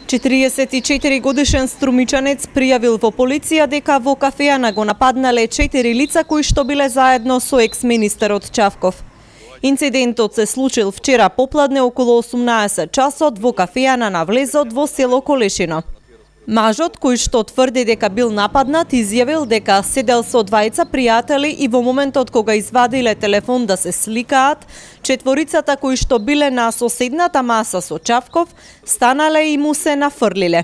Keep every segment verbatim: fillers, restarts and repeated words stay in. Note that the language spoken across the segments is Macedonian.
четириесет и четири годишен струмичанец пријавил во полиција дека во кафеана го нападнале четири лица кои што биле заедно со екс-министерот Чавков. Инцидентот се случил вчера попладне околу осумнаесет часот во кафеана на влезот во село Колешино. Мажот, кој што тврди дека бил нападнат, изјавил дека седел со двајца пријатели и во моментот кога извадиле телефон да се сликаат, четворицата кои што биле на соседната маса со Чавков, станале и му се нафрлиле.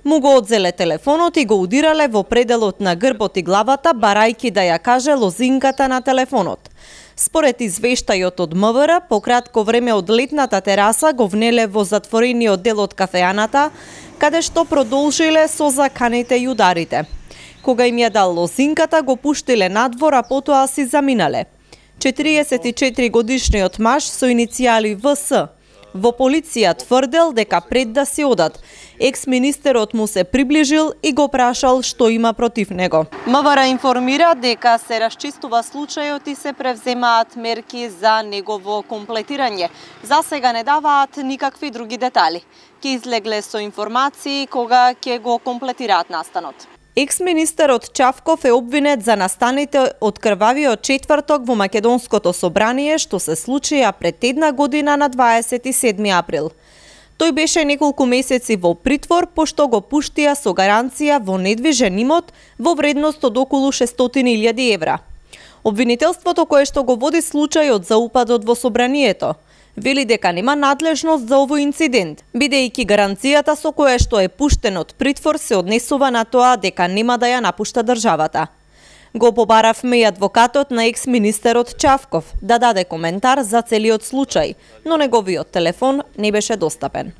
Му го одзеле телефонот и го удирале во пределот на грбот и главата, барајки да ја каже лозинката на телефонот. Според извештајот од МВР, по кратко време од летната тераса го внеле во затворениот дел од кафеаната, каде што продолжиле со заканите и ударите. Кога им ја дал лозинката, го пуштиле надвор, а потоа си заминале. четириесет и четири годишниот маж со иницијали В С во полиција тврдел дека пред да си одат, екс-министерот му се приближил и го прашал што има против него. МВР информира дека се расчистува случајот и се превземаат мерки за негово комплетирање. За сега не даваат никакви други детали. Ке излегле со информации кога ќе го комплетираат настанот. Екс-министерот Чавков е обвинет за настаните од крвавиот четврток во Македонското собрание, што се случија пред една година на дваесет и седми април. Тој беше неколку месеци во притвор, пошто го пуштија со гаранција во недвижен имот во вредност од околу шестстотини илјади евра. Обвинителството кое што го води случајот за упадот во собранието вели дека нема надлежност за овој инцидент, бидејќи гаранцијата со која што е пуштен од притвор се однесува на тоа дека нема да ја напушта државата. Го побаравме и адвокатот на екс-министерот Чавков да даде коментар за целиот случај, но неговиот телефон не беше достапен.